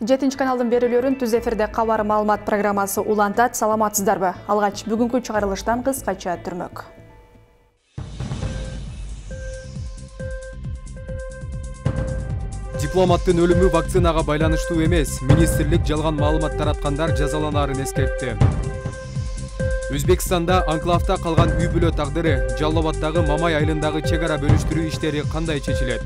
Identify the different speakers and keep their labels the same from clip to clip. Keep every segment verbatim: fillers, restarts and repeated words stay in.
Speaker 1: жетинчи каналдын берүүлөрүн түз эфирде кабар маалымат программасы улантат. Саламатсыздарбы? Алгач бүгүнкү чыгарылыштан кыскача түрмөк.
Speaker 2: Дипломаттын өлүмү вакцинага байланыштуу эмес. Министрлик жалган маалымат тараткандар жазаланаарын эскертти. Өзбекстанда анклавда калган үй бүлө тагдыры, Жалал Абаддагы Мамай айылындагы чек ара бөлүштүрүү иштери кандай чечилет?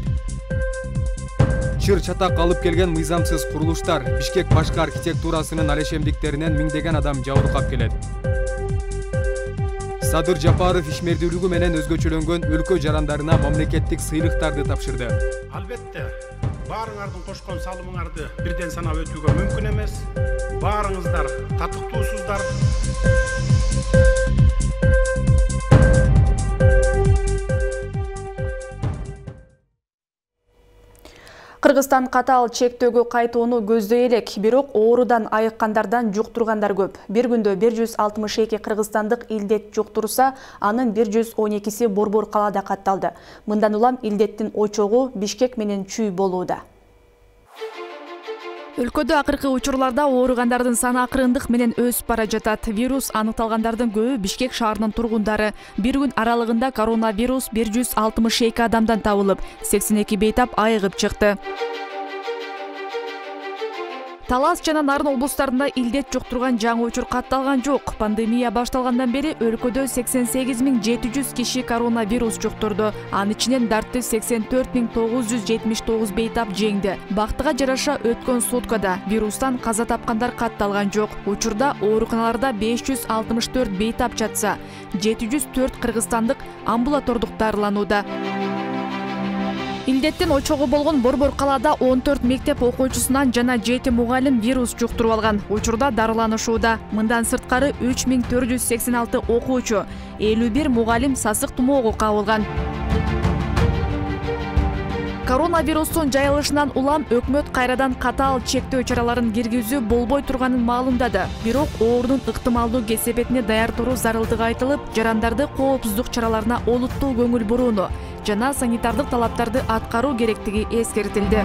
Speaker 2: Чыр чатак алып келген мыйзамсыз курулуштар, Бишкек башкы архитектурасынын алешемдиктеринен миңдеген адам жабыркап келет. Садыр Жапаров ишмердүүлүгү менен өзгөчөлөнгөн өлкө жарандарына мамлекеттик сыйлыктарды тапшырды.
Speaker 3: Албетте, баарыңардын кошкон салымыңарды бирден санап өтүүгө мүмкүн эмес. Баарыңыздар татыктуусуздар.
Speaker 1: Кыргызстан катаал чектөөгө кайтууну көздөй элек, бирок оорудан айыккандардан жуктургандар көп. Бир күндө бир жүз алтымыш эки кыргызстандык илдет жуктурса, анын бир жүз он экиси Борбор калаада катталды. Мындан улам илдеттин очогу Бишкек менен Чүй болууда. Өлкөдө акыркы учурларда ооругандардын саны акырындык менен өсүп бара жатат. Вирус аныкталгандардын көбү Бишкек шаарынын тургундары. Бир күн аралыгында коронавирус бир жүз алтымыш эки адамдан табылып, сексен эки бейтап айыгып чыкты. Талас жана Нарын облустарында илдет жуктурган жаңы учур катталган жок. Пандемия башталгандан бери өлкөдө сексен сегиз миң жети жүз киши коронавирус жуктурду. Анын ичинен дарты сексен төрт миң тогуз жүз жетимиш тогуз бейтап жеңди. Бактыга жараша өткөн суткада вирустан каза тапкандар катталган жок. Учурда ооруканаларда беш жүз алтымыш төрт бейтап жатса, жети жүз төрт кыргызстандык амбулатордук дарыланууда. Илдеттин очогу болгон Борбор калаада он төрт мектеп окуучусунан жана жети мугалим вирус жуктуруп алган. Учурда дарыланышууда. Мындан сырткары үч миң төрт жүз сексен алты окуучу, элүү бир мугалим сасык тумоого кабылган. Коронавирустун жайылышынан улам өкмөт кайрадан катаал чектөө чараларын киргизүү болбой турганын маалымдады. Бирок оорунун ыктымалдуу кесепетине даяр туруу зарылдыгы айтылып, жарандарды коопсуздук чараларына олуттуу көңүл бурууну жана санитардык талаптарды аткаруу керектиги эскертилди.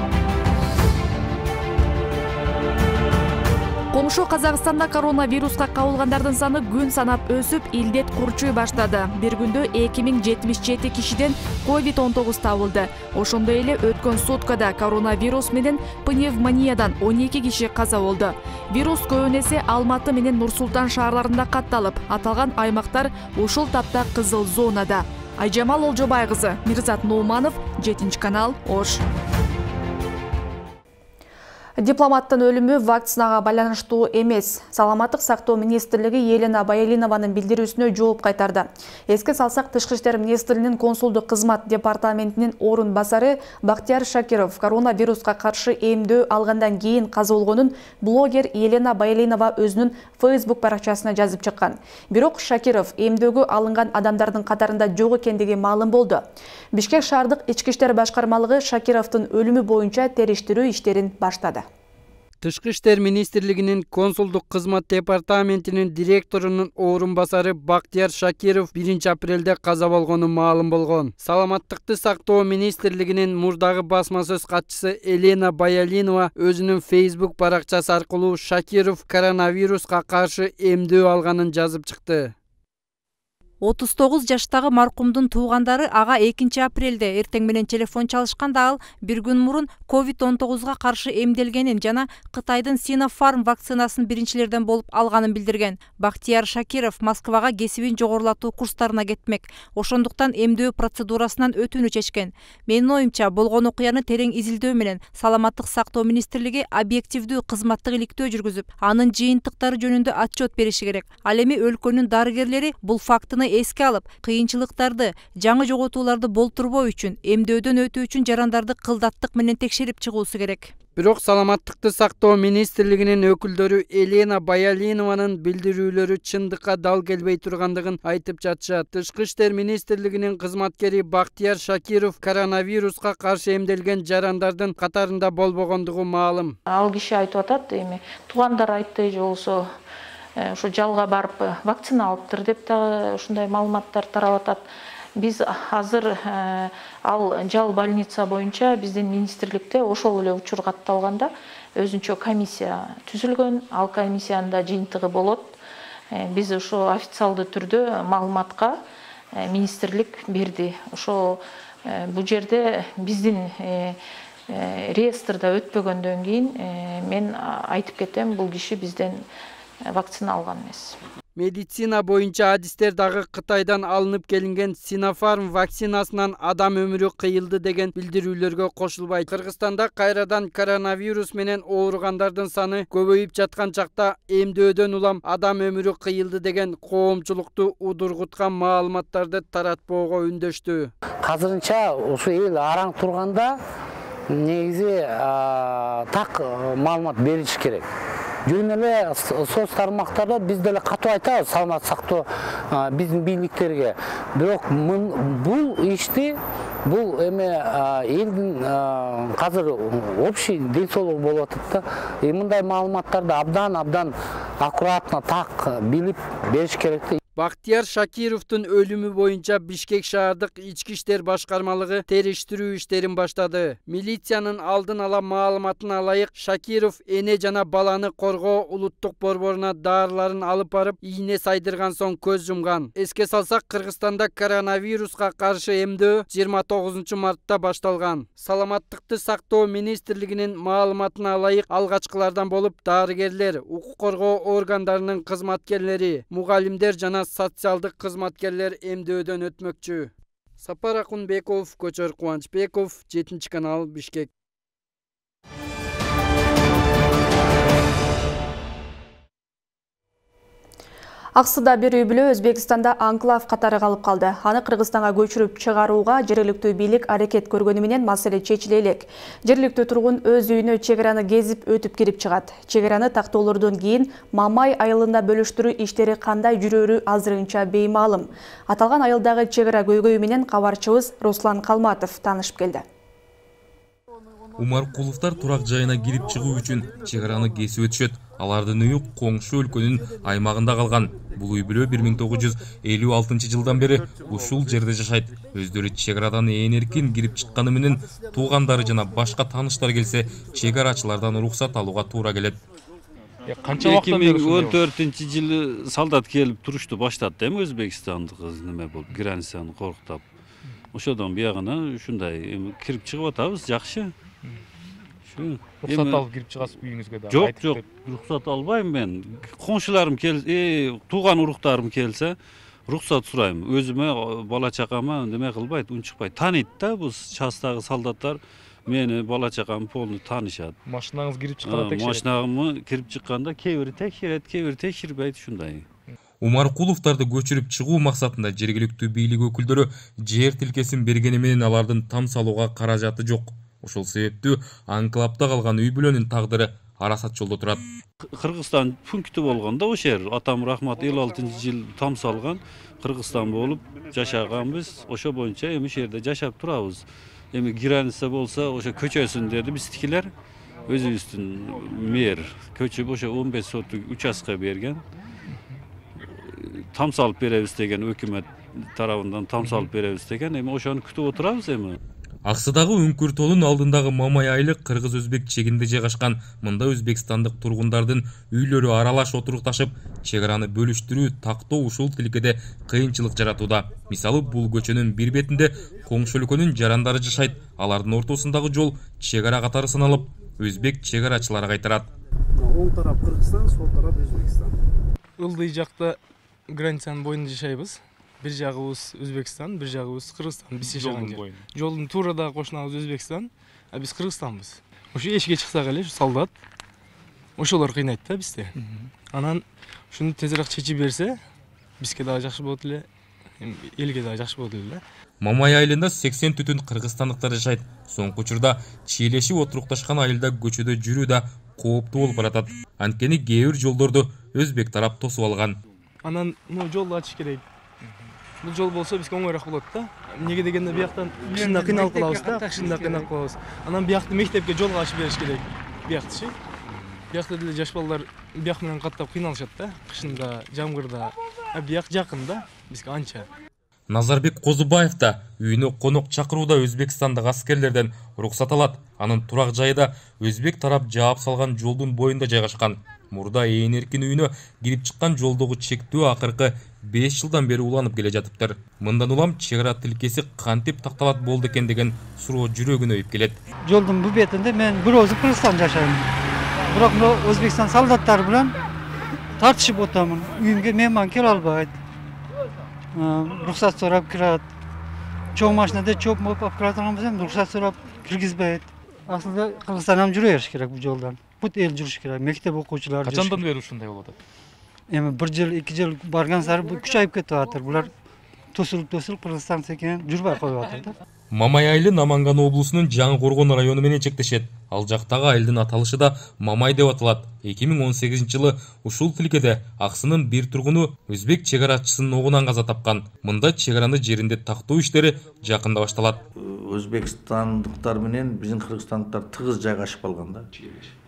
Speaker 1: Комшу Казакстанда коронавируска кабылгандардын саны күн санап өсүп, илдет курчуй баштады. Бир күндө эки миң жетимиш жети кишиден ковид он тогуз табылды. Ошондой эле өткөн суткада коронавирус менен пневмониядан он эки киши каза болду. Вирус көбүн эсе Алматы менен Нур Султан шаарларында катталып, аталган аймактар ушул тапта кызыл зонада. Айжамал Олжобай кызы, Мирзат Ноуманов, жетинчи канал, Ош. Дипломаттын өлүмү вакцинага байланыштуу эмес. Саламаттык сактоо министрлиги Елена Баялинованын билдирүүсүнө жооп кайтарды. Эске салсак, Тышкы иштер министринин консулдук кызмат департаментинин орун басары Бактияр Шакиров коронавируска каршы эмдөө алгандан кийин каза болгонун блогер Елена Баялинова өзүнүн Facebook баракчасына жазып чыккан. Бирок Шакиров эмдөөгө алынган адамдардын катарында жок экендиги маалым болду. Бишкек шаардык ички иштер башкармалыгы Шакировдун өлүмү боюнча териштирүү иштерин баштады.
Speaker 4: Тышкы иштер министрлигинин консулдук кызмат департаментинин директорунун орун басары Бактияр Шакиров биринчи апрелде каза болгону маалым болгон. Саламаттыкты сактоо министрлигинин мурдагы басма сөз катчысы Елена Баялинова өзүнүн Facebook баракчасы аркылуу Шакиров коронавируска каршы эмдөө алганын жазып чыкты.
Speaker 5: отуз тогуз жаштагы маркумдун туугандары ага экинчи апрелде эртең менен телефон чалышканда ал бир күн мурун ковид он тогузга каршы эмделгенин жана Кытайдын Sinopharm вакцинасын биринчилерден болуп алганын билдирген. Бактияр Шакиров Москвага кесибин жогорулатуу курстарына кетмек. Ошондуктан эмдөө процедурасынан өтүүнү чечкен. Менин оюмча, болгон окуяны терең изилдөө менен Саламаттык сактоо министрлиги объективдүү кызматтык иликтөө жүргүзүп, анын жыйынтыктары жөнүндө отчет бериши керек. Ал эми өлкөнүн дарыгерлери бул фактыны эске алып, кыйынчылыктарды, жаңы жоготууларды болтурбоо үчүн эмдөөдөн өтүү үчүн жарандарды кылдаттык менен текшерип чыгуусу керек.
Speaker 4: Бирок Саламаттыкты сактоо министрлигинин өкүлдөрү Елена Баялинованын билдирүүлөрү чындыкка дал келбей тургандыгын айтып жатышат. Тышкы иштер министрлигинин кызматкери Бактияр Шакиров коронавируска каршы эмделген жарандардын катарында болбогондугу маалым.
Speaker 6: Ал киши айтып атат, эми туугандар айтты же болсо ушу жалга барып вакцина алыптыр деп да ушундай маалыматтар тарап атат. Биз азыр ал жал больница боюнча биздин министрликте ошол эле учур катталганда өзүнчө комиссия түзүлгөн, ал комиссиянын да жыйынтыгы болот. Биз ошо официалдуу түрдө маалыматка министрлик берди. Ошо бул жерде биздин реестрда өтпөгөндөн кийин мен айтып кетем, бул киши бизден вакцина алган эмес.
Speaker 4: Медицина боюнча адистер дагы Кытайдан алынып келинген Sinopharm вакцинасынан адам өмүрү кыйылды деген билдирүүлөргө кошулбайт. Кыргызстанда кайрадан коронавирус менен ооругандардын саны көбөйүп жаткан чакта эмдөөдөн улам адам өмүрү кыйылды деген коомчулукту удургуткан маалыматтарды таратпоого үндөштү.
Speaker 7: Азырынча ушу эл араң турганда негизи так маалымат бериш керек. Жөн эле соц тармактарда биз деле катуу айтабыз саламат сактоо биздин бийликтерге. Бирок бул ишти бул эме элдин азыр общий ден соолугу болуп атат да. Мындай маалыматтарды абдан абдан аккуратно так билип бериш керек.
Speaker 4: Бактияр Шакировдун өлүмү боюнча Бишкек шаардык ички иштер башкармалыгы териштирүү иштерин баштады. Милициянын алдын ала маалыматына ылайык Шакиров эне жана баланы коргоо улуттук борборуна даарыларын алып барып, ийне сайдырган соң көз жумган. Эске салсак, Кыргызстанда коронавируска каршы эмдөө жыйырма тогузунчу мартта башталган. Саламаттыкты сактоо министрлигинин маалыматына ылайык алгачкылардан болуп дарыгерлер, укук коргоо органдарынын кызматкерлери, мугалимдер жана социалдык кызматкерлер эмдөөдөн өтмөкчү. Сапар Акунбеков, Көчөр Кубанычбеков, жетинчи канал, Бишкек.
Speaker 1: Аксыда бир үй бүлө Өзбекстанда анклав катары калып калды. Аны Кыргызстанга көчүрүп чыгарууга жергиликтүү бийлик аракет көргөнү менен маселе чечиле элек. Жергиликтүү тургун өз үйүнө чек араны кезип өтүп кирип чыгат. Чек араны тактоолордон кийин мамай айылында бөлүштүрүү иштери кандай жүрөрү азырынча беймаалым. Аталган айылдагы чек ара көйгөйү менен кабарчыбыз Руслан Калматов таанышып келди.
Speaker 8: Умаркуловдор турак жайына кирип чыгуу үчүн чек араны кесип өтүшөт. Алардын үйү коңшу өлкөнүн аймагында калган. Бул үй бүлө бир миң тогуз жүз элүү алтынчы жылдан бери ушул жерде жашайт. Өздөрү чек арадан ээн эркин кирип чыкканы менен туугандары жана башка тааныштар келсе, чек арачылардан уруксат алууга туура келет.
Speaker 9: Канча вакыттан бери? эки миң он төртүнчү жылы солдат келип турушту баштады эми Өзбекстандык неме болуп, границаны корктоп. Ошодон биягына ушундай кирип чыгып атабыз, жакшы. Рухсат алып кирип чыгасыз үйүңүзгө да?
Speaker 8: Жок, жок, рухсат албайм мен. Коңшуларым келсе, тууган уруктарым келсе, рухсат сурайм. Өзүмө, бала чакама неме кылбайт, унчукпайт. Тааныйт да, бул частагы солдаттар мени, бала чакамы полный таанышат.
Speaker 9: Машинаңыз кирип чыкканда текшерет?
Speaker 8: Машинамы кирип чыкканда кээ бири текшерет, кээ бири текшербейт, ушундай. Умаркуловдорду көчүрүп чыгуу максатында жергиликтүү бийлик өкүлдөрү жер тилкесин бергени менен алардын там салууга каражаты жок. Ошол себептүү анклавда калган үй бүлөнүн тагдыры арасат жолдо турат. Кыргызстан пункту болгондо ошол жер атам рахмат элүү алтынчы жыл там салган Кыргызстан болуп жашаганбыз. Ошо боюнча эми ошол жерде жашап турабыз. Эми граница болсо ошо көчөсүн деди биздикилер. Өзүбүздүн мэр көчүп ошо он беш соттук участка берген. Там салып беребиз деген өкмөт тарабынан там салып беребиз деген. Эми ошону күтүп отурабыз эми. Аксыдагы Үңкүр тоолунун алдындагы Мамай айылы кыргыз-өзбек чегинде жайгашкан. Мында өзбекстандык тургундардын үйлөрү аралаш отурукташып, чек араны бөлүштүрүү тактоо ушул тилкеде кыйынчылык жаратууда. Мисалы, бул көчөнүн бир бетинде коңшу өлкөнүн жарандары жашайт. Алардын ортосундагы жол чек ара катары саналып, өзбек чек арачылары кайтарат.
Speaker 10: Оң тарап Кыргызстан, сол тарап Өзбекстан.
Speaker 9: Ылдый жакта границанын боюнда жашайбыз. Бир жагыбыз Өзбекстан, бир жагыбыз Кыргызстан. Биз жашаган жер. Жолдун туурада кошунабыз Өзбекстан, а биз Кыргызстанбыз. Ошо эшикке чыксак эле солдат ошолор кыйнайт да бизди. Анан ушуну тезирээк чечип берсе, бизге дагы жакшы болот эле, элге дагы жакшы болот эле.
Speaker 8: Мамай айылында сексен түтүн кыргызстандыктар жашайт. Соңку учурда чийлешип отурукташкан айылда көчөдө жүрүү да кооптуу болуп баратат. Анткени кээ бир жолдорду өзбек тарап тосуп алган.
Speaker 9: Анан мына жолду ачыш керек. Бул жол болсо бизге оңойраак болот да. Эмнеге дегенде бияктан кышында кыйналып калабыз да, кышында кыйналып калабыз. Анан биякты мектепке жолго ачып бериш керек. Биякты. Биякта деле жаш балдар бияк менен каттап кыйналышат да, кышында, жамгырда. А бияк жакын да бизге анча.
Speaker 8: Назарбек Козубаев да үйүнө конок чакырууда Өзбекстандык аскерлерден уруксат алат. Анын турак жайы да өзбек тарап жаап салган жолдун боюнда жайгашкан. Мурда ээн эркин үйүнө кирип чыккан жолдогу чектөө акыркы беш жылдан бери уланып келе жатыптыр. Мындан улам чек ара тилкеси кантип такталат болду экен деген суроо жүрөгүнө өйүп келет.
Speaker 11: Жолдун бу бетинде мен бир өзү Кыргызстанда жашайм. Бирок мына Өзбекстан солдаттары менен тартышып отамын. Үйүмгө мейман келе албайт. Рухсат сурап кирет. Чоң машинада чоп моп алып кирет, рухсат сурап киргизбейт. Асылда Кыргызстандан жүрө бериш керек бул жолдон. Бут эл жүрүш керек, мектеп окуучулары.
Speaker 12: Качандан бери ушундай болуп атат?
Speaker 11: Эми бир жыл, эки жыл барган сары күчөйүп кетип атат. Булар тосулуп тосулуп Кыргызстан секен жүрбөй коюп атат да.
Speaker 8: Мамай айылы Наманган облусунун Жаңы Коргон району менен чектешет. Ал жактагы айылдын аталышы да Мамай деп аталат. эки миң он сегизинчи жылы ушул тилкеде аксынын бир тургуну өзбек чек арачысынын огунан каза тапкан. Мында чек араны жеринде тактоо иштери жакында башталат.
Speaker 13: Өзбекстандыктар менен биздин кыргызстандыктар тыгыз жайгашып калган да.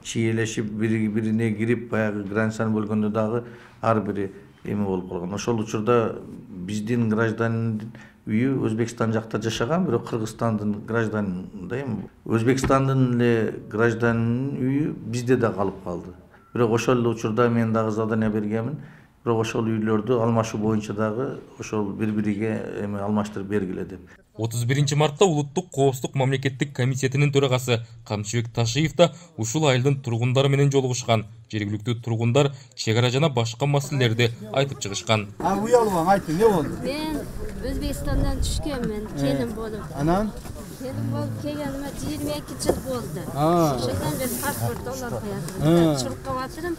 Speaker 13: Чиелешип бири-бирине кирип, баягы границаны бөлгөндө дагы ар бири эме болуп калган. Ошол учурда биздин гражданин үйү Өзбекстан жакта жашаган, бирок Кыргызстандын гражданин да эми Өзбекстандын эле гражданинин үйү бизде да калып калды. Бирок ошол эле учурда мен дагы задание бергенмин. Бирок ошол үйлөрдү алмашуу боюнча дагы ошол бири-бириге эме алмаштырып бергиле деп.
Speaker 8: отуз биринчи мартта Улуттук коопсуздук мамлекеттик комитетинин төрагасы Камчыбек Ташиев да ушул айылдын тургундары менен жолугушкан. Жергиликтүү тургундар чек ара жана башка маселелерди айтып чыгышкан.
Speaker 14: А уялган айтты, эмне болду?
Speaker 15: Мен Өзбекстандан түшкөнмүн, келин болуп.
Speaker 14: Анан
Speaker 15: келин болуп келгениме жыйырма эки жыл болду. Ошондон бери паспорт алып коятырмын. Чуркап калатырмын.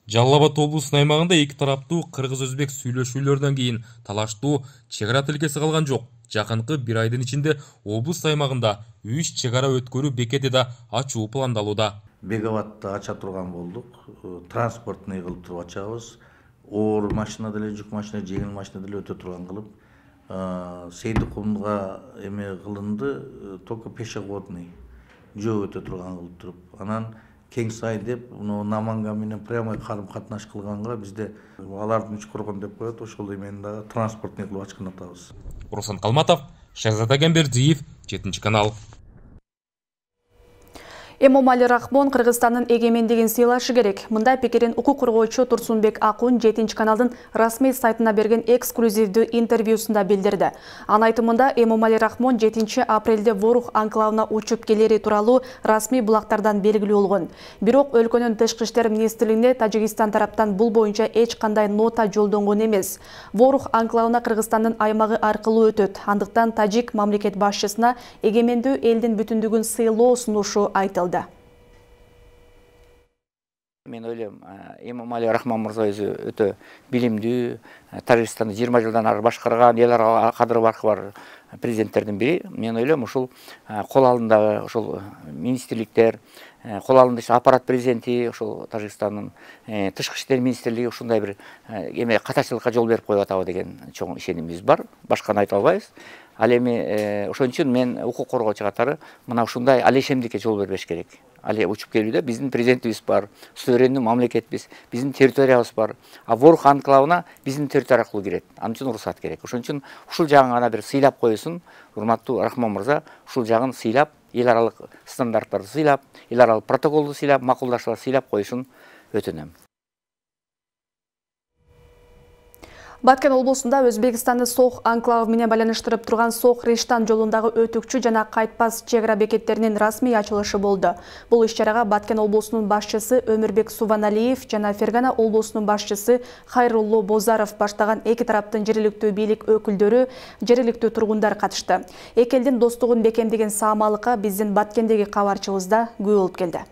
Speaker 8: Жалал Абад облусунун аймагында эки тараптуу кыргыз-өзбек сүйлөшүүлөрдөн кийин талаштуу чек ара тилкеси калган жок. Жакынкы бир айдын ичинде облус аймагында үч чек ара өткөрүү бекети да ачуу пландалууда.
Speaker 13: Беговатты ача турган болдук. Транспортный кылып туруп ачабыз. Оор машина деле, жүк машина, жеңил машина деле өтө турган кылып. Сейдикулга эме кылынды, только пешеходный жөө өтө турган кылып туруп. Анан Кең сай деп, Наманган менен прямой карым катнаш кылганга бизде алардын үч коргон деп коет, ошол эмени дагы транспортный кылып ачкан атабыз.
Speaker 8: Руслан Калматов, Шахзада Гамбердиев, жетинчи канал.
Speaker 1: Эмомали Рахмон Кыргызстандын эгемендигин сыйлашы керек. Мындай пикирин укук коргоочу Турсунбек Акун жетинчи каналдын расмий сайтына берген эксклюзивдүү интервьюсунда билдирди. Анын айтымында Эмомали Рахмон жетинчи апрелде Ворух анклавына учуп келери тууралуу расмий булактардан белгилүү болгон. Бирок өлкөнүн тышкы иштер министрлигине Тажикстан тараптан бул боюнча эч кандай нота жолдонгон эмес. Ворух анклавына Кыргызстандын аймагы аркылуу өтөт. Андыктан тажик мамлекет башчысына эгемендүү элдин бүтүндүгүн сыйлоо сунушу айтылды.
Speaker 16: Мен ойлойм, Эмомали Рахмон мырза өзү өтө билимдүү, Тажикстанды жыйырма жылдан ары башкарган, эл ара кадыр баркы бар президенттердин бири. Мен ойлойм, ушул кол алдындагы ушул министрликтер, кол алдында аппарат президенти, ушул Тажикстандын тышкы иштер министрлиги ушундай бир эме катачылыкка жол берип коюп атабы деген чоң ишенимибиз бар. Башканы айта албайбыз. Ал эми ошон үчүн мен укук коргоочу катары мына ушундай алешемдикке жол бербеш керек. Али учуп келүүдө биздин президентибиз бар, суверендүү мамлекетбиз, биздин территориябыз бар. А Ворух анклавына биздин территория аркылуу кирет. Анын үчүн уруксат керек. Ошон үчүн ушул жагын гана бир сыйлап коесун, урматтуу Рахмон мырза, ушул жагын сыйлап, эл аралык стандарттарды сыйлап, эл аралык протоколду сыйлап, макулдашууларды сыйлап коюшун өтүнөм.
Speaker 1: Баткен облусунда Өзбекстанды Сох анклавы менен байланыштырып турган Сох-Риштан жолундагы өтүкчү жана кайтпас чек ара бекеттеринин расмий ачылышы болду. Бул иш-чарага Баткен облусунун башчысы Өмүрбек Суваналиев жана Фергана облусунун башчысы Хайрулло Бозаров баштаган эки тараптын жергиликтүү бийлик өкүлдөрү, жергиликтүү тургундар катышты. Эки элдин достугун бекемдеген саамалыкка биздин Баткендеги кабарчыбызда күбө болуп келди.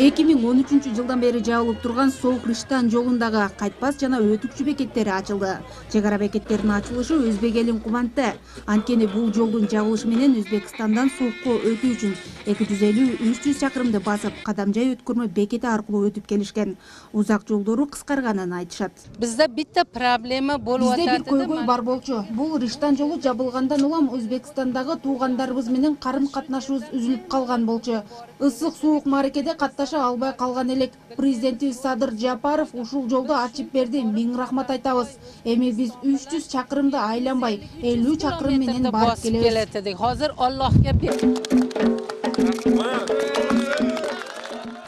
Speaker 17: эки миң он үчүнчү жылдан бери жабылып турган Сох-Риштан жолундагы кайтпас жана өтүкчү бекеттери ачылды. Чек ара бекеттеринин ачылышы өзбек элин кубантты. Анткени бул жолдун жабылышы менен Өзбекстандан Сохко өтүү үчүн эки жүз элүү үч жүз чакырымды басып, кадамжай өткөрмө бекети аркылуу өтүп келишкен. Узак жолдору кыскарганын айтышат.
Speaker 18: Бизде битте проблема болуп атат.
Speaker 17: Бизде бир көйгөй бар болчу. Бул Риштан жолу жабылгандан улам Өзбекстандагы туугандарыбыз менен карым катнашыбыз үзүлүп калган болчу. Ысык суук мааракеде катта башташа албай калган элек. Президентибиз Садыр Жапаров ушул жолду ачып берди. Миң рахмат айтабыз. Эми биз үч жүз чакырымды айланбай, элүү чакырым менен барып келебиз.
Speaker 18: Hozir Allohga ber.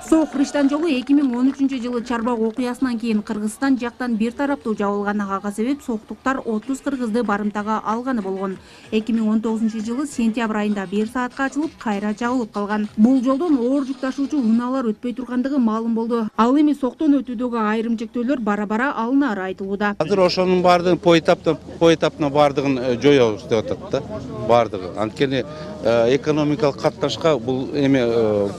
Speaker 17: Соо Кыргызстан жолу эки миң он үчүнчү жылы Чарбак окуясынан кийин Кыргызстан жактан бир тараптуу жабылган. Ага себеп соктуктар отуз кыргызды барымтага алганы болгон. эки миң он тогузунчу жылы сентябрь айында бир саатка ачылып, кайра жабылып калган. Бул жолдон оор жүк ташуучу унаалар өтпөй тургандыгы маалым болду. Ал эми соктон өтүүдөгү айрым чектөөлөр бара-бара алынары айтылууда.
Speaker 14: Азыр ошонун баардыгын поэтапта поэтапна баардыгын жоёбуз деп атат да. Баардыгы. Анткени экономикалык катташка бул эме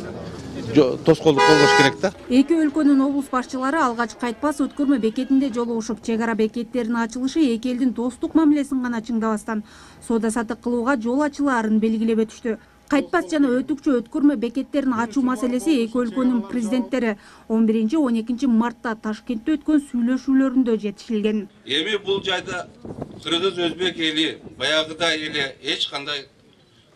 Speaker 14: тоскоолдук болбош керек да.
Speaker 17: Эки өлкөнүн облус башчылары алгач Кайтпас өткөрмө бекетинде жолугушуп, чек ара бекеттеринин ачылышы эки элдин достук мамилесин гана чыңдабастан соода саттык кылууга жол ачылаарын белгилеп өтүштү. Кайтпас жана өтүкчү өткөрмө бекеттерин ачуу маселеси эки өлкөнүн президенттери он биринчи он экинчи мартта Ташкентте өткөн сүйлөшүүлөрүндө жетишилген.
Speaker 12: Эми бул жайда кыргыз өзбек эли баягыдай эле эч кандай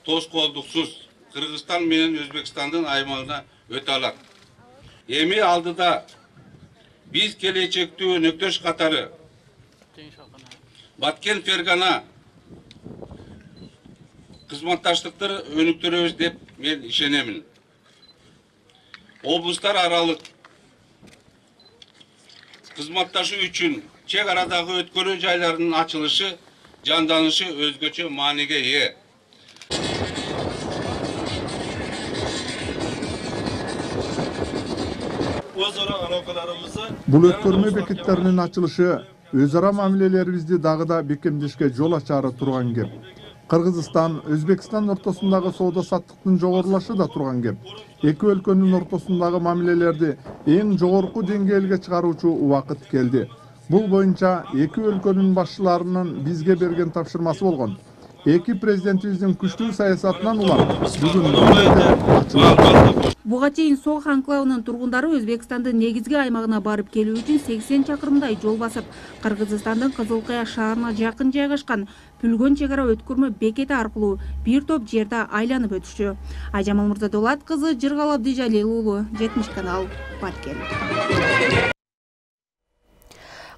Speaker 12: тоскоолдуксуз Кыргызстан менен Өзбекстандын аймагына өтө алат. Эми алдыда биз келечектүү өнөктөш катары Баткен Фергана кызматташтыкты өнүктүрөбүз деп мен ишенемин. Облустар аралык кызматташуу үчүн чек арадагы өткөрүү жайларынын ачылышы, жанданышы өзгөчө мааниге ээ.
Speaker 19: Бул өткөрмө бекеттеринин ачылышы өз ара мамилелерибизди дагы да бекемдешке жол ачары турган кеп. Кыргызстан, Өзбекстан ортосундагы соода саттыктын жогорулашы да турган кеп. Эки өлкөнүн ортосундагы мамилелерди эң жогорку деңгээлге чыгаруучу убакыт келди. Бул боюнча эки өлкөнүн башчыларынын бизге берген тапшырмасы болгон. Эки президентибиздин күчтүү саясатынан улам бүгүн ачылды.
Speaker 17: Буга чейин Соо анклавынын тургундары Өзбекстандын негизги аймагына барып келүү үчүн сексен чакырымдай жол басып, Кыргызстандын Кызыл Кая шаарына жакын жайгашкан Пүлгөн чек ара өткөрмө бекети аркылуу бир топ жерде айланып өтүшчү. Айжамал Мырзадулат кызы, Жыргал Абдижалил уулу, жетимиш канал, Баткен.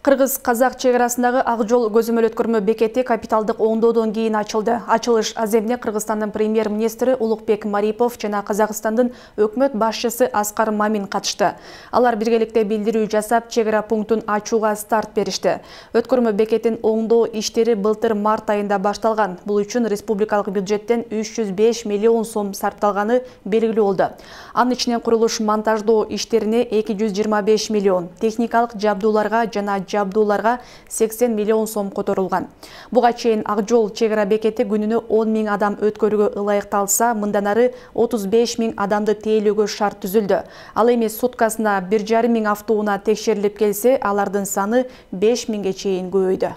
Speaker 1: Кыргыз-казак чек арасындагы Ак жол көзөмөл өткөрмө бекети капиталдык оңдоодон кийин ачылды. Ачылыш аземине Кыргызстандын премьер-министри Улукбек Марипов жана Казакстандын өкмөт башчысы Аскар Мамин катышты. Алар биргеликте билдирүү жасап, чек ара пунктун ачууга старт беришти. Өткөрмө бекетин оңдоо иштери былтыр март айында башталган. Бул үчүн республикалык бюджеттен үч жүз беш миллион сом сарпталганы белгилүү болду. Анын ичинен курулуш монтаждоо иштерине эки жүз жыйырма беш миллион, техникалык жабдууларга жана жабдууларга сексен миллион сом которулган. Буга чейин Ак жол чек ара бекети күнүнө он миң адам өткөрүүгө ылайыкталса, мындан ары отуз беш миң адамды тээлөөгө шарт түзүлдү. Ал эми суткасына бир жарым миң автоунаа текшерилип келсе, алардын саны беш миңге чейин көбөйдү.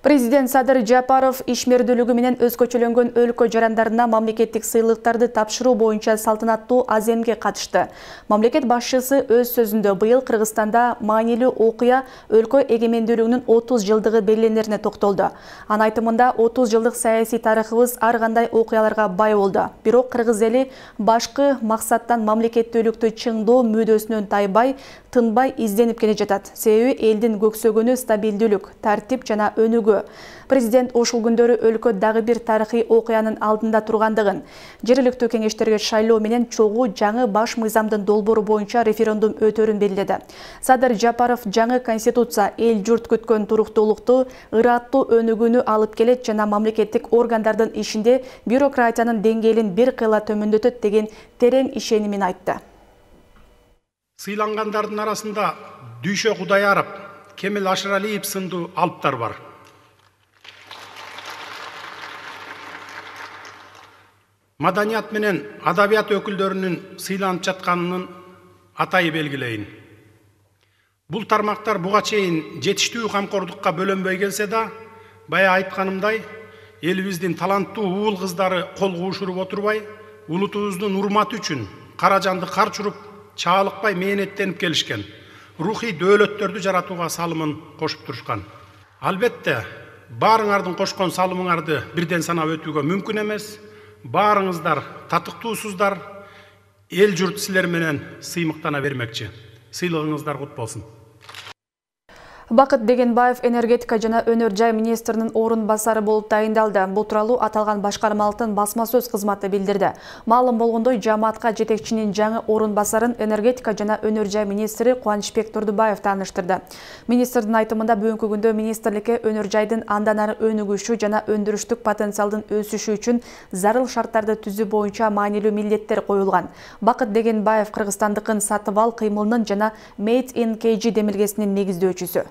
Speaker 1: Президент Садыр Жапаров ишмердүүлүгү менен өзгөчөлөнгөн өлкө жарандарына мамлекеттик сыйлыктарды тапшыруу боюнча салтанаттуу аземге катышты. Мамлекет башчысы өз сөзүндө быйыл Кыргызстанда маанилүү окуя өлкө эгемендүүлүгүнүн отуз жылдыгы белгиленерине токтолду. Анын айтымында отуз жылдык саясий тарыхыбыз ар кандай окуяларга бай болду. Бирок кыргыз эли башкы максаттан мамлекеттүүлүктү чыңдоо мүдөсүнөн тайбай, тынбай изденип келе жатат. Себеби элдин көксөгөнү стабилдүүлүк, тартип жана өнүгүү. Президент ошол күндөрү өлкө дагы бир тарыхый окуянын алдында тургандыгын, жергиликтүү кеңештерге шайлоо менен чогуу жаңы баш мыйзамдын долбоору боюнча референдум өтөрүн белгиледи. Садыр Жапаров жаңы конституция эл журт күткөн туруктуулукту, ыраттуу өнүгүүнү алып келет жана мамлекеттик органдардын ишинде бюрократиянын деңгээлин бир кыйла төмөндөтөт деген терең ишенимин айтты.
Speaker 3: Сыйлангандардын арасында Дүйшө Кудайаров, Кемел Ашыралиев сындуу алыптар бар. Маданият менен адабият өкүлдөрүнүн сыйланып жатканынын атайы белгилейин. Бул тармактар буга чейин жетиштүү камкордукка бөлөнбөй келсе да, бая айтканымдай, элибиздин таланттуу уул кыздары кол куушуруп отурбай, улутубуздун урматы үчүн кара жанды кар чуруп, чаалыкпай мээнеттенип келишкен. Рухий дөөлөттөрдү жаратууга салымын кошуп турушкан. Албетте, баарыңардын кошкон салымыңарды бирден санап өтүүгө мүмкүн эмес. баарыңыздар татыктуусуздар, эл журт силер менен сыймыктана бермекчи. Сыйлыгыңыздар кут болсун.
Speaker 1: Бакыт Бегенбаев энергетика жана өнөр жай министринин орун басары болуп тайындалды. Бул тууралуу аталган башкармалыктын басма сөз кызматы билдирди. Маалым болгондой, жамаатка жетекчинин жаңы орун басарын энергетика жана өнөр жай министри Кубанычбек Турдубаев тааныштырды. Министрдин айтымында бүгүнкү күндө министрликке өнөр жайдын андан ары өнүгүшү жана өндүрүштүк потенциалдын өсүшү үчүн зарыл шарттарды түзүү боюнча маанилүү милдеттер коюлган. Бакыт Бегенбаев Кыргызстандыкын сатып ал кыймылынын жана Made in кей джи демилгесинин негиздөөчүсү.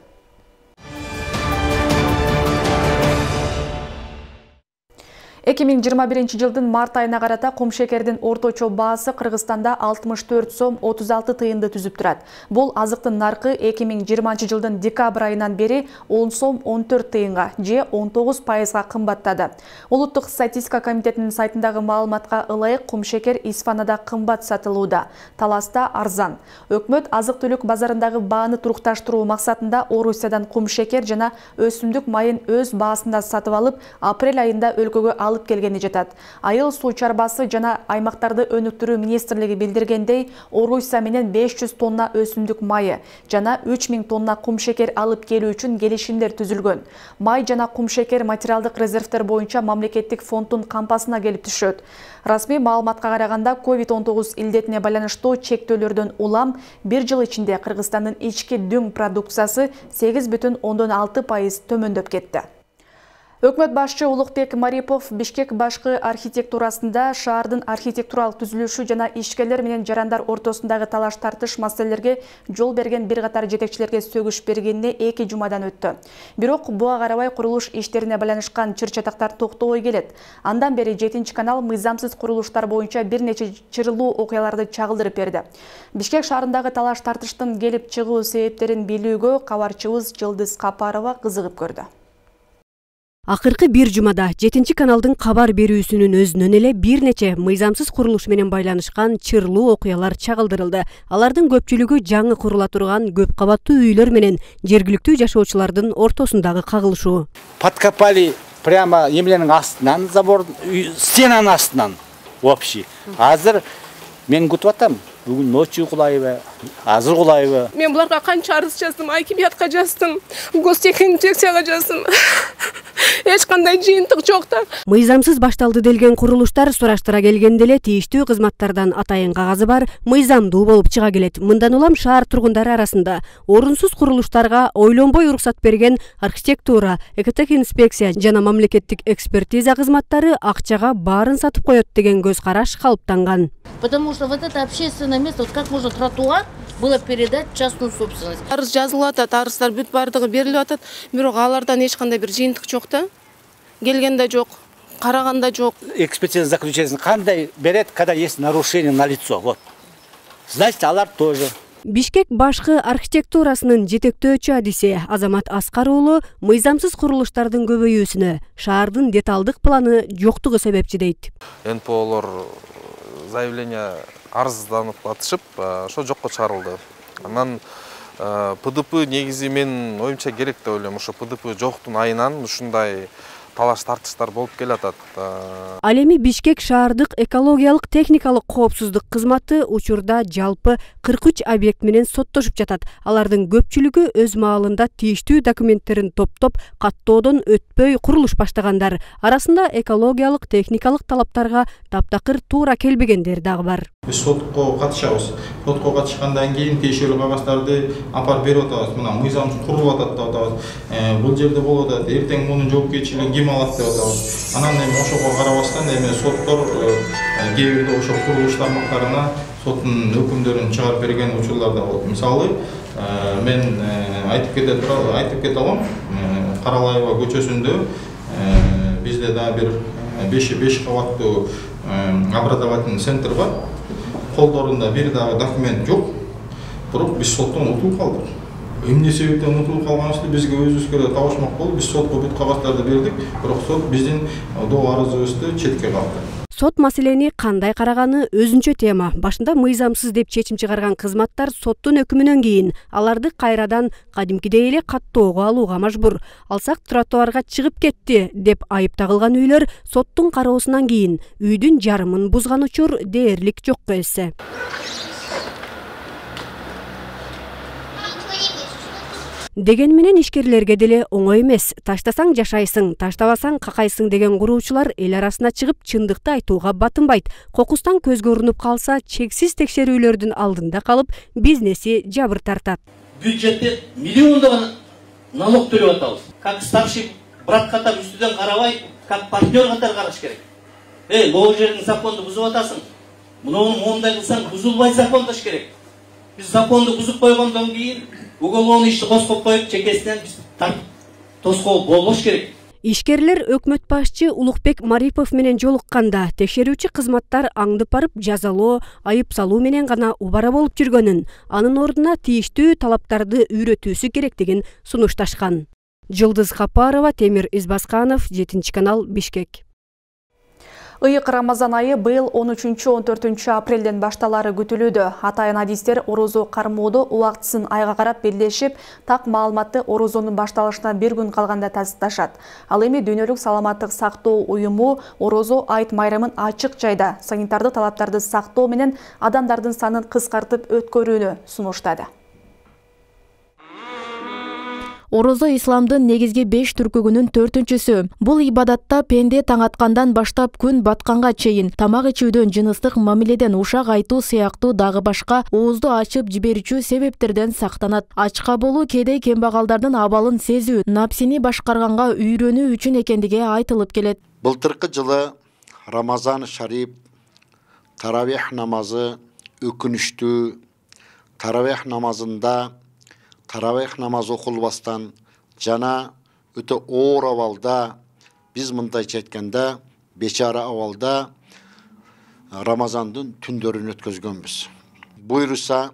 Speaker 1: эки миң жыйырма биринчи жылдын март айына карата кумшекердин орточо баасы Кыргызстанда алтымыш төрт сом отуз алты тыйынды түзүп турат. Бул азыктын наркы эки миң жыйырманчы жылдын декабрь айынан бери он сом он төрт тыйынга же он тогуз пайызга кымбаттады. Улуттук статистика комитетинин сайтындагы маалыматка ылайык кумшекер Исфанада кымбат сатылууда, Таласта арзан. Өкмөт азык-түлүк базарындагы бааны турукташтыруу максатында Орусиядан кумшекер жана өсүмдүк майын өз баасында сатып алып, апрель айында өлкөгө алып келгени жатат. Айыл суу чарбасы жана аймактарды өнүктүрүү министрлиги билдиргендей, Орусия менен беш жүз тонна өсүмдүк майы жана үч миң тонна кумшекер алып келүү үчүн келишимдер түзүлгөн. Май жана кумшекер материалдык резервтер боюнча мамлекеттик фонддун кампасына келип түшөт. Расмий маалыматка караганда, ковид он тогуз илдетине байланыштуу чектөөлөрдөн улам бир жыл ичинде Кыргызстандын ички дүң продукциясы сегиз бүтүн ондон алты пайыз төмөндөп кетти. Өкмөт башчы Улукбек Марипов Бишкек башкы архитектурасында шаардын архитектуралык түзүлүшү жана ишкерлер менен жарандар ортосундагы талаш-тартыш маселелерге жол берген бир катар жетекчилерге сөгүш бергенине эки жумадан өттү. Бирок буга карабай курулуш иштерине байланышкан чыр-чатактар токтобой келет. Андан бери жетинчи канал мыйзамсыз курулуштар боюнча бир нече чырылуу окуяларды чагылдырып берди. Бишкек шаарындагы талаш-тартыштын келип чыгуу себептерин билүүгө кабарчыбыз Жылдыз Капарова кызыгып көрдү.
Speaker 20: Акыркы бир жумада жетинчи каналдын кабар берүүсүнүн өзүнөн эле бир нече мыйзамсыз курулуш менен байланышкан чырлуу окуялар чагылдырылды. Алардын көпчүлүгү жаңы курула турган көп кабаттуу үйлөр менен жергиликтүү жашоочулардын ортосундагы кагылышуу.
Speaker 21: Подкопали прямо эмленин астынан, забор стенанын астынан общий. Азыр мен күтүп атам. Бүгүн ночью кулайбы, азыр кулайбы.
Speaker 22: Мен буларга канча арыз жаздым, акимиятка жаздым, гостехинспекцияга жаздым. Эч кандай жыйынтык жок да.
Speaker 20: Мыйзамсыз башталды делген курулуштар сураштыра келгенде эле тийиштүү кызматтардан атайын кагазы бар, мыйзамдуу болуп чыга келет. Мындан улам шаар тургундары арасында орунсуз курулуштарга ойлонбой уруксат берген архитектура, экотехинспекция жана мамлекеттик экспертиза кызматтары акчага баарын сатып коет деген көз караш калыптанган.
Speaker 23: Потому что вот это общественное место, вот как можно тротуар было передать в частную собственность.
Speaker 22: Арыз жазылып атат, арыздар бүт бардыгы берилип атат, бирок алардан эч кандай бир жыйынтык жок да. Келгенде жок, караганда жок.
Speaker 21: Экспертиза заключение кандай берет, когда есть нарушение на лицо, вот. Значит, алар тоже.
Speaker 20: Бишкек башкы архитектурасынын жетектөөчү адиси Азамат Аскар уулу мыйзамсыз курулуштардын көбөйүүсүнө шаардын деталдык планы жоктугу себепчи дейт.
Speaker 24: эн пэ олор заявление арызданып атышып, ошо жокко чыгарылды. Анан пэ дэ пэ негизи мен оюмча керек деп ойлойм. Ошо пэ дэ пэ жоктун айынан ушундай талаш тартыштар болуп келатат.
Speaker 20: Ал эми Бишкек шаардык экологиялык техникалык коопсуздук кызматы учурда жалпы кырк үч объект менен соттошуп жатат. Алардын көпчүлүгү өз маалында тийиштүү документтерин топтоп, каттоодон өтпөй курулуш баштагандар. Арасында экологиялык техникалык талаптарга таптакыр туура келбегендер дагы бар.
Speaker 25: Биз сотко катышабыз. Сотко катышкандан кийин тиешелүү кагаздарды апарып берип атабыз. Мына мыйзамсыз курулуп атат деп атабыз. Бул жерде болуп атат. Эртең мунун жоопкерчилигин ким алат деп атабыз. Анан эми ошого карабастан эми соттор кээ бирде ошо курулуш тармактарына соттун өкүмдөрүн чыгарып берген учурлар да болот. Мисалы, мен айтып кете турам, айтып кете алам. Каралаева көчөсүндө бизде да бир беш кабаттуу образовательный центр бар. Колдорунда бир дагы документ жок. Бирок биз соттон утулуп калдык. Эмне себептен утулуп калганыбызды бизге өзүбүзгө табышмак болуп, биз сотко бүт кагаздарды бердик, бирок сот биздин доо арызыбызды четке калды.
Speaker 20: Сот маселени кандай караганы өзүнчө тема. Башында мыйзамсыз деп чечим чыгарган кызматтар соттун өкүмүнөн кийин аларды кайрадан кадимкидей эле каттоого алууга мажбур. Алсак тротуарга чыгып кетти деп айып тагылган үйлөр соттун кароосунан кийин үйдүн жарымын бузган учур дээрлик жокко эсе. Деген менен ишкерлерге деле оңой эмес. Таштасаң жашайсың, таштабасаң какайсың деген куруучулар эл арасына чыгып чындыкты айтууга батынбайт. Кокустан көзгө урунуп калса, чексиз текшерүүлөрдүн алдында калып, бизнеси жабыр тартат.
Speaker 2: Бюджетте миллиондогон налог төлөп атабыз. Как старший брат катар үстүдөн карабай, как партнер катар караш керек. Эй, могу жердин законду бузуп атасың. Муну моундай кылсаң бузулбай закондош керек. Биз законду бузуп койгондон кийин уголовный ишти козгоп коюп, чекесинен биз тартып тоскоол болбош керек.
Speaker 20: Ишкерлер өкмөт башчы Улукбек Марипов менен жолукканда текшерүүчү кызматтар аңдып барып жазалоо, айып салуу менен гана убара болуп жүргөнүн, анын ордуна тийиштүү талаптарды үйрөтүүсү керектигин сунушташкан. Жылдыз Капарова, Темир Избасканов, жетинчи канал, Бишкек.
Speaker 1: Ыйык Рамазан айы быйыл он үчүнчү он төртүнчү апрелден башталары күтүлүүдө. Атайын адистер орозо кармоодо убактысын айга карап белгилешип, так маалыматты орозонун башталышына бир күн калганда тасташат. Ал эми Дүйнөлүк саламаттык сактоо уюму орозо айт майрамын ачык жайда санитардык талаптарды сактоо менен адамдардын санын кыскартып өткөрүүнү сунуштады.
Speaker 4: Орозо исламдын негизги беш түркүгүнүн төртүнчүсү. Бул ибадатта пенде таң аткандан баштап күн батканга чейин тамак ичүүдөн, жыныстык мамиледен, ушак айтуу сыяктуу дагы башка оозду ачып жиберүүчү себептерден сактанат. Ачка болуу кээде кембагалдардын абалын сезүү, напсини башкарганга үйрөнүү үчүн экендиги айтылып келет.
Speaker 5: Былтыркы жылы Рамазан шариф таравих намазы өкүнүштүү. Таравих намазында Таравих намаз окулбастан жана өтө оор абалда, биз мындайча айтканда бечара абалда Рамазандын түндөрүн өткөзгөнбүз. Буйруса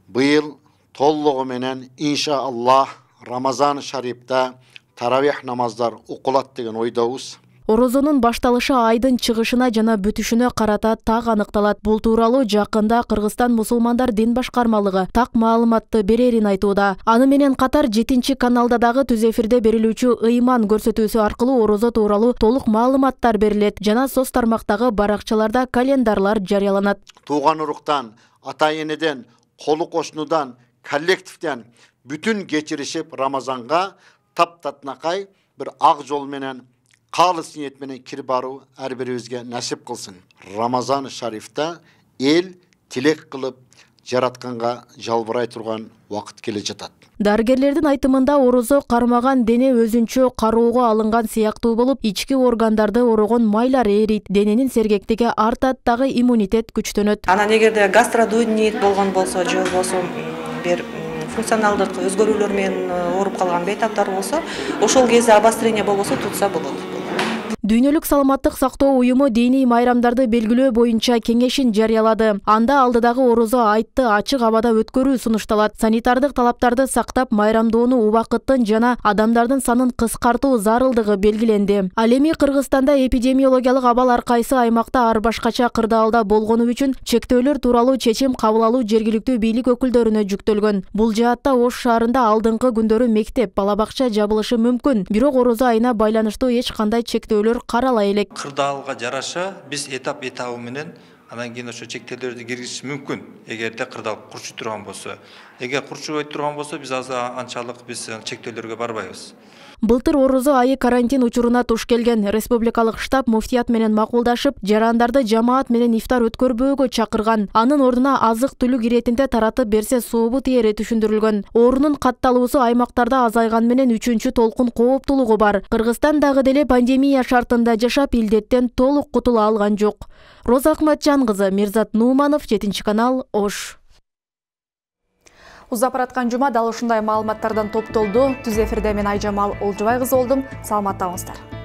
Speaker 5: быйыл толлугу менен иншааллах Рамазан шарифта таравих намаздар окулат деген ойдобуз.
Speaker 4: Орозонун башталышы айдын чыгышына жана бүтүшүнө карата так аныкталат. Бул тууралуу жакында Кыргызстан мусулмандар дин башкармалыгы так маалыматты берерин айтууда. Аны менен катар жетинчи каналда дагы түз эфирде берилүүчү ыйман көрсөтүүсү аркылуу орозо тууралуу толук маалыматтар берилет. Жана соц тармактагы баракчаларда календарлар жарыяланат.
Speaker 5: Тууган уруктан, ата энеден, колу кошунудан, коллективден бүтүн кечиришип Рамазанга таптатнакай бир ак жол менен калыс ниет менен кирип баруу ар бирибизге насип кылсын. Рамазан шарифта эл тилек кылып жаратканга жалбырай турган убакыт келе жатат.
Speaker 4: Дарыгерлердин айтымында орозо кармаган дене өзүнчө кароого алынган сыяктуу болуп, ички органдарды орогон майлар эрийт, дененин сергектиги артат, дагы иммунитет күчтөнөт.
Speaker 6: Анан эгерде гастродуйнит болгон болсо, же болбосо бир функционалдык өзгөрүүлөр менен ооруп калган бейтаптар болсо, ошол кезде обострение болбосо тутса болот.
Speaker 4: Дүйнөлүк саламаттык сактоо уюму диний майрамдарды белгилөө боюнча кеңешин жарыялады. Анда алдыдагы орозо айтты ачык абада өткөрүү сунушталат. Санитардык талаптарды сактап, майрамдоону убакыттын жана адамдардын санын кыскартуу зарылдыгы белгиленди. Ал эми Кыргызстанда эпидемиологиялык абал ар кайсы аймакта ар башкача кырдаалда болгону үчүн чектөөлөр тууралуу чечим кабыл алуу жергиликтүү бийлик өкүлдөрүнө жүктөлгөн. Бул жаатта Ош шаарында алдыңкы күндөрү мектеп, бала бакча жабылышы мүмкүн. Бирок орозо айына байланыштуу эч кандай чектөөлөр карала элек.
Speaker 7: Кырдаалга жараша биз этап этабы менен анан кийин ошо чектөөлөрдү киргизиш мүмкүн, эгерде кырдаал курчуп турган болсо. Эгер курчубай турган болсо, биз азыр анчалык биз чектөөлөргө барбайбыз.
Speaker 4: Былтыр орозо айы карантин учуруна туш келген. Республикалык штаб муфтият менен макулдашып, жарандарды жамаат менен ифтар өткөрбөөгө чакырган. Анын ордуна азык-түлүк иретинде таратып берсе сообу тиери түшүндүрүлгөн. Оорунун катталуусу аймактарда азайган менен үчүнчү толкун кооптулугу бар. Кыргызстан дагы деле пандемия шартында жашап, илдеттен толук кутула алган жок. Роза Акматжан кызы, Мирзат Нууманов, жетинчи канал, Ош.
Speaker 1: Узап бараткан жума дал ушундай маалыматтардан топтолду. Түз эфирде мен Айжамал Олжубай кызы болдум. Саламатта болуңуздар.